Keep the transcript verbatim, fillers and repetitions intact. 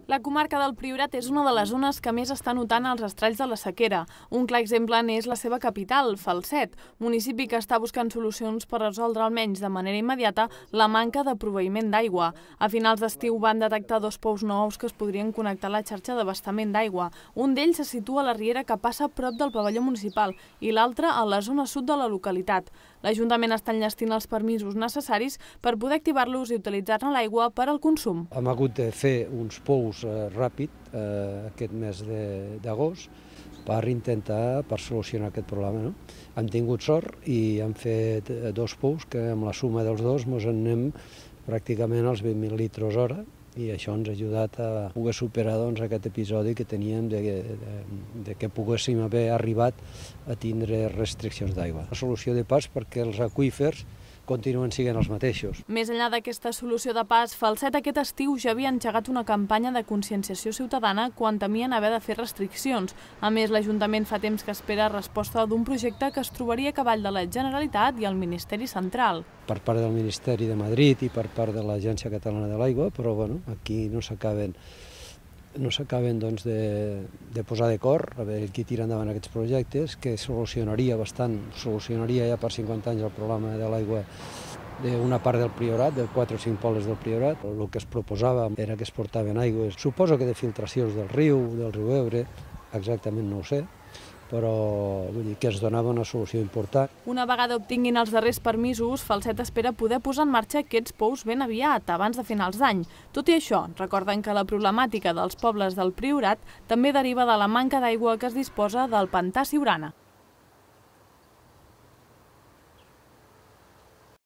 La comarca del Priorat és una de les zones que més està notant els estralls de la sequera. Un clar exemple n'és la seva capital, Falset, municipi que està buscant solucions per resoldre almenys de manera immediata la manca de proveïment d'aigua. A finals d'estiu van detectar dos pous nous que es podrien connectar a la xarxa d'abastament d'aigua. Un d'ells se situa a la riera que passa prop del pavelló municipal i l'altre a la zona sud de la localitat. L'Ajuntament està enllestint els permisos necessaris per poder activar-los i utilitzar-ne l'aigua per al consum. Hem hagut de fer uns pous eh, ràpid eh, aquest mes d'agost per intentar per solucionar aquest problema. No? Hem tingut sort i hem fet dos pous que amb la suma dels dos ens en anem pràcticament als vint mil litres hora i això ens ha ajudat a poder superar doncs, aquest episodi que teníem de, de, de que poguéssim haver arribat a tindre restriccions d'aigua. La solució de pas perquè els aqüífers continuen sent els mateixos. Més enllà d'aquesta solució de pas, Falset aquest estiu ja havia engegat una campanya de conscienciació ciutadana quan temien haver de fer restriccions. A més, l'Ajuntament fa temps que espera resposta d'un projecte que es trobaria a cavall de la Generalitat i el Ministeri Central. Per part del Ministeri de Madrid i per part de l'Agència Catalana de l'Aigua, però bueno, aquí no s'acaben no s'acaben doncs, de, de posar d'acord a veure qui tira endavant aquests projectes, que solucionaria bastant, solucionaria ja per cinquanta anys el problema de l'aigua d'una part del Priorat, de quatre o cinc pobles del Priorat. El que es proposava era que es portaven aigües, suposo que de filtracions del riu, del riu Ebre, exactament no ho sé, però vull dir que es donava una solució important. Una vegada obtinguin els darrers permisos, Falset espera poder posar en marxa aquests pous ben aviat, abans de finals d'any. Tot i això, recorden que la problemàtica dels pobles del Priorat també deriva de la manca d'aigua que es disposa del pantà Siurana.